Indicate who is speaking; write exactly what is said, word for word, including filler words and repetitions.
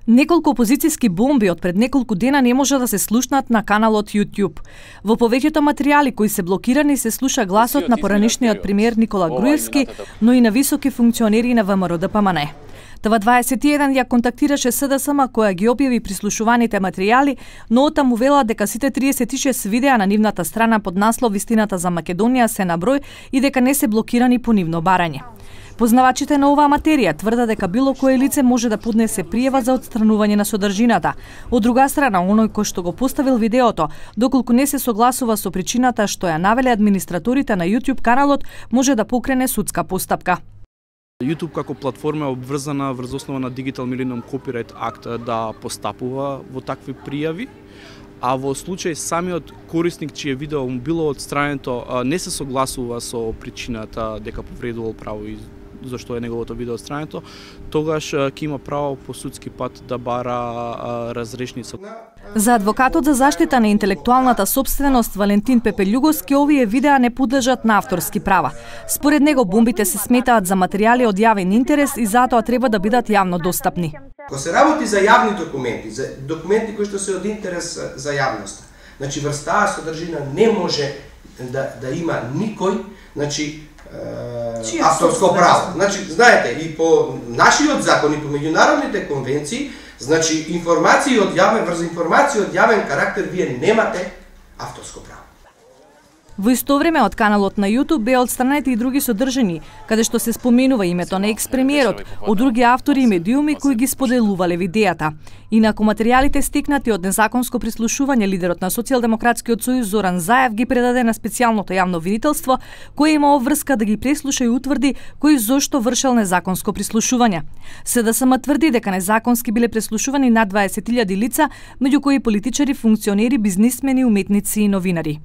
Speaker 1: Неколку опозицијски бомби од пред неколку дена не може да се слушнат на каналот YouTube. Во повеќето материјали кои се блокирани се слуша гласот на поранишниот премиер Никола Груевски, но и на високи функционери на ВМРО Д П М Н. Т В дваесет и еден ја контактираше С Д С М која ги објави прислушуваните материјали, но оттаму вела дека сите триесет и шест видеа на нивната страна под наслов "Вистината за Македонија" се на број и дека не се блокирани по нивно барање. Познавачите на оваа материја тврдат дека било кое лице може да поднесе пријава за отстранување на содржината. Од друга страна, оној кој што го поставил видеото, доколку не се согласува со причината што ја навеле администраторите на YouTube каналот, може да покрене судска постапка.
Speaker 2: YouTube како платформа е обврзана врз основа на Digital Millennium Copyright Act да постапува во такви пријави, а во случај самиот корисник чие видео му било отстрането не се согласува со причината дека повредувал право и зашто е неговото видео отстрането, тогаш ќе има право по судски пат да бара разрешница.
Speaker 1: За адвокатот за заштита на интелектуалната собственост Валентин Пепелјуговски, овие видеа не подлежат на авторски права. Според него бомбите се сметаат за материјали од јавен интерес и затоа треба да бидат јавно достапни.
Speaker 3: Ако се работи за јавни документи, за документи кои што се од интерес за јавноста, значи врз таа содржина не може да да има никој, значи е, авторско право. Значи, знаете, и по нашиот закон и по меѓународните конвенции, значи информации од јавен врз информации од јавен карактер вие немате авторско право.
Speaker 1: Во исто време од каналот на YouTube беа отстранети и други содржини, каде што се споменува името на екс-премиерот, од други автори и медиуми кои ги споделувале видеата. Инаку материјалите стекнати од незаконско прислушување, лидерот на Социјалдемократскиот сојуз Зоран Заев ги предаде на специјалното јавно видителство, кое има обврска да ги преслуша и утврди кој зошто вршел незаконско прислушување. С Д С М тврди дека незаконски биле преслушувани над дваесет илјади лица, меѓу кои политичари, функционери, бизнисмени, уметници и новинари.